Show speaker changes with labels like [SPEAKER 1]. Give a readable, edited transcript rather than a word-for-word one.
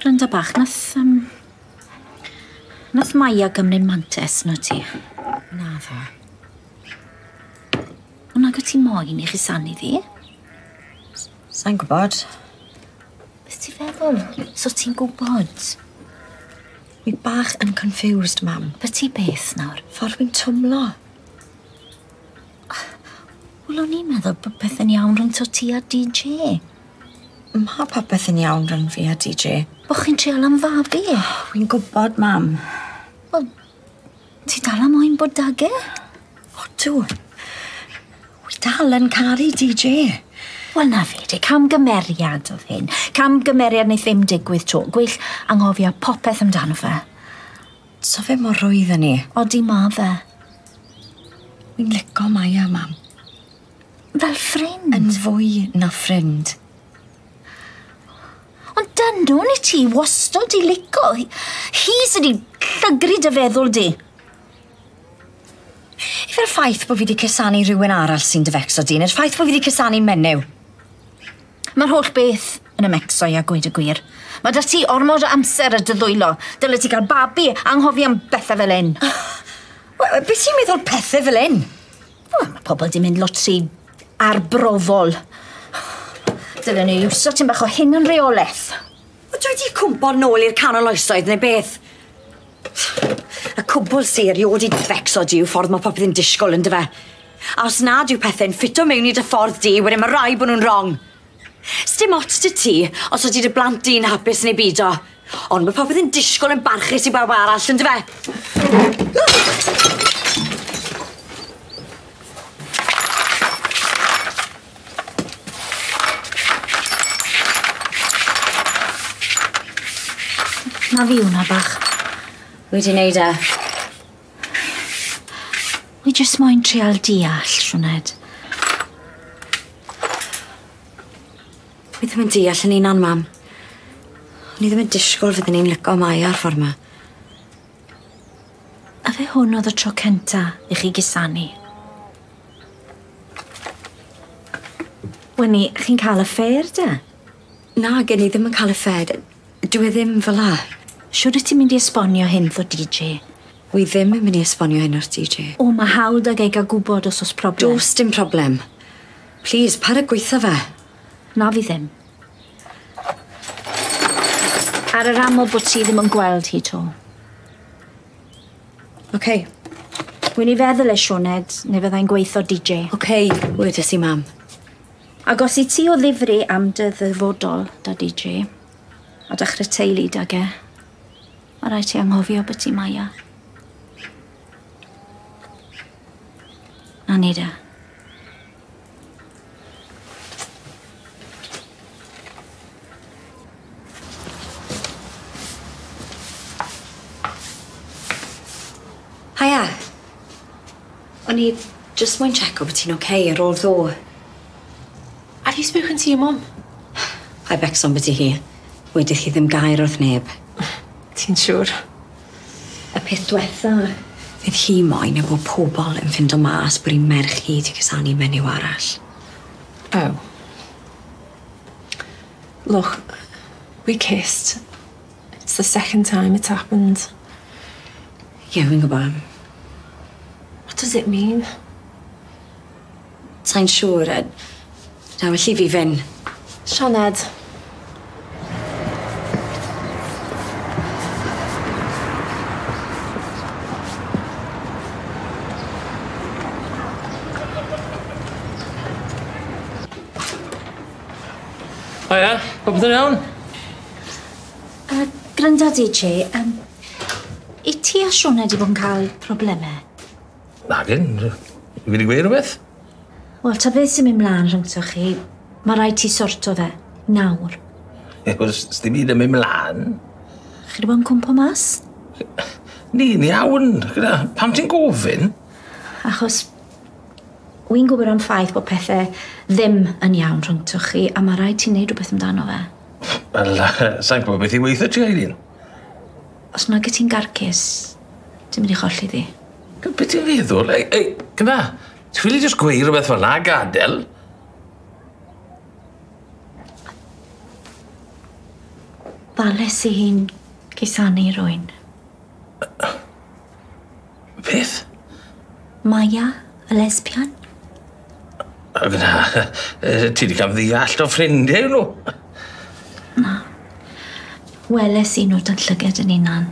[SPEAKER 1] Gwranda bach, nath Maia gymryd mantes na ti? Naddo. Ond nag o ti moyn i chusanu ddi?
[SPEAKER 2] Sai'n gwybod.
[SPEAKER 1] Beth ti'n feddwl? So ti'n gwybod?
[SPEAKER 2] Wi bach yn confused, mam.
[SPEAKER 1] Be ti beth nawr?
[SPEAKER 2] Ffordd wi'n twmlo.
[SPEAKER 1] Wel, o'n i'n meddwl bod pethau'n iawn rhwng ti a DJ.
[SPEAKER 2] Ma' popeth yn iawn rhwng fi a DJ.
[SPEAKER 1] Bo chi'n trial am fabi?
[SPEAKER 2] Wi'n gwybod, mam.
[SPEAKER 1] Wel, ti dal am moyn bod 'dag e?
[SPEAKER 2] Odw. Wi dal yn caru DJ.
[SPEAKER 1] Wel, na fe, de, camgymeriad oedd hyn. Camgymeriad wneith ddim digwydd 'to. Gwell anghofio popeth amdano fe.
[SPEAKER 2] So fe mor rwydd â ni.
[SPEAKER 1] Odi ma fe.
[SPEAKER 2] Wi'n lico Maia, mam.
[SPEAKER 1] Fel ffrind?
[SPEAKER 2] Yn fwy na ffrind.
[SPEAKER 1] Ond dynwn i ti wastod i lico. Hi sydd wedi llygru dy feddwl di.
[SPEAKER 2] Ife'r ffaith bod fi wedi cusanu rhywun arall sy'n dy fecso di, neu'r ffaith bod fi wedi cusanu menyw?
[SPEAKER 1] Mae'r holl beth yn 'y mecso i a gweud y gwir. Mae 'da ti ormod o amser ar dy ddwylo. Dyle ti gael babi, anghofio am bethau fel hyn.
[SPEAKER 2] Wel, beth ti'n meddwl pethau fel hyn?
[SPEAKER 1] Wel, mae pobl di mynd lot rhy arbrofol. Dylen ni iwso tipyn bach o hunanreolaeth.
[SPEAKER 2] Wel, dwi wedi cwmpo nôl i'r canol oesoedd neu beth? Y cwbl sy erioed 'di fecso di yw ffordd mae popeth yn disgwyl yn dyfe. A os nad yw pethau'n ffito mewn i dy ffordd di, wedyn mae rhaid bod nhw'n wrong. Sdim ots 'da ti os ydy dy blant di'n hapus neu bido. Ond mae popeth yn disgwyl yn barchus i bawb arall, yn dyfe?
[SPEAKER 1] Na fi hwnna bach.
[SPEAKER 2] Wedi wneud e.
[SPEAKER 1] Wi jyst moyn trial deall, Sioned.
[SPEAKER 2] Wi ddim yn deall yn hunan, mam. O'n i ddim yn disgwyl fydden ni'n lico Maia ar ffordd 'ma.
[SPEAKER 1] A fe hwn oedd y tro cynta i chi gusanu? Weni, chi'n cael affair de?
[SPEAKER 2] Na, gen i ddim yn cael affair. Dwi e ddim fel 'a.
[SPEAKER 1] Siwr wyt ti'n mynd i esbonio hyn wrtho DJ?
[SPEAKER 2] Wi ddim yn mynd i esbonio hyn wrth DJ.
[SPEAKER 1] O, mae hawl 'dag e gael gwybod os oes problem.
[SPEAKER 2] Does dim problem. Please, paid â gweutho fe.
[SPEAKER 1] Na fi ddim. Ar yr amod bod ti ddim yn gweld hi 'to.
[SPEAKER 2] OK.
[SPEAKER 1] Wy'n i feddwl e, Sioned, neu fyddai'n gweutho DJ.
[SPEAKER 2] OK, wedes i, mam.
[SPEAKER 1] Ac os i ti o ddifri am dy ddyfodol 'da DJ, a dechrau teulu 'dag e, mae rhaid ti anghofio beth ti Maia. Na ni de.
[SPEAKER 2] Haia. O'n i jyst moyn checo bod ti'n OK ar ôl ddoe.
[SPEAKER 3] Have you spoken to your mum?
[SPEAKER 2] Paid becso ambyti hi. Wedodd hi ddim gair wrth neb.
[SPEAKER 3] Ti'n siŵr?
[SPEAKER 2] Y peth diwetha fydd hi moyn yw bod pobl yn ffindo mas bod 'i merch hi 'di cusanu menyw arall.
[SPEAKER 3] Oh. Look, we kissed. It's the second time it's happened.
[SPEAKER 2] Ie, yeah, fi'n gwybod.
[SPEAKER 3] What does it mean?
[SPEAKER 2] Sai'n siŵr. Na, well i fi fynd.
[SPEAKER 3] Sioned.
[SPEAKER 4] Haia, popeth yn iawn?
[SPEAKER 1] Granda DJ, i ti a Sioned 'di bod yn cael problemau?
[SPEAKER 4] Nagyn, fi wedi gweud rhywbeth?
[SPEAKER 1] Wel, ta beth sy'n mynd mlaen rhyngthoch chi, mae rhaid ti sorto fe, nawr.
[SPEAKER 4] Wel, sdim byd yn mynd mlaen.
[SPEAKER 1] Chi wedi bod yn cwmpo mas?
[SPEAKER 4] Ni'n iawn, gyda. Pam ti'n gofyn?
[SPEAKER 1] Achos wy'n gwybod am ffaith bod pethau ddim yn iawn rhyngthoch chi, a mae rhaid ti wneud rhywbeth amdano fe.
[SPEAKER 4] Wel, sai'n gwybod beth i weithio ti, Eileen.
[SPEAKER 1] Os nag y ti'n garcus, ti'n mynd i cholli ddi.
[SPEAKER 4] Beth ti'n feddwl? Ei, ei, gyda, ti'n ffili jyst gweud rhywbeth fel 'na a gadael?
[SPEAKER 1] Ddales i hi'n cusanu rwy'n.
[SPEAKER 4] Beth?
[SPEAKER 1] Maya, y lesbian.
[SPEAKER 4] O, gyda, ti wedi cael ddeall o ffrindiau nhw.
[SPEAKER 1] Na. Weles i nhw dan llyged yn hunan.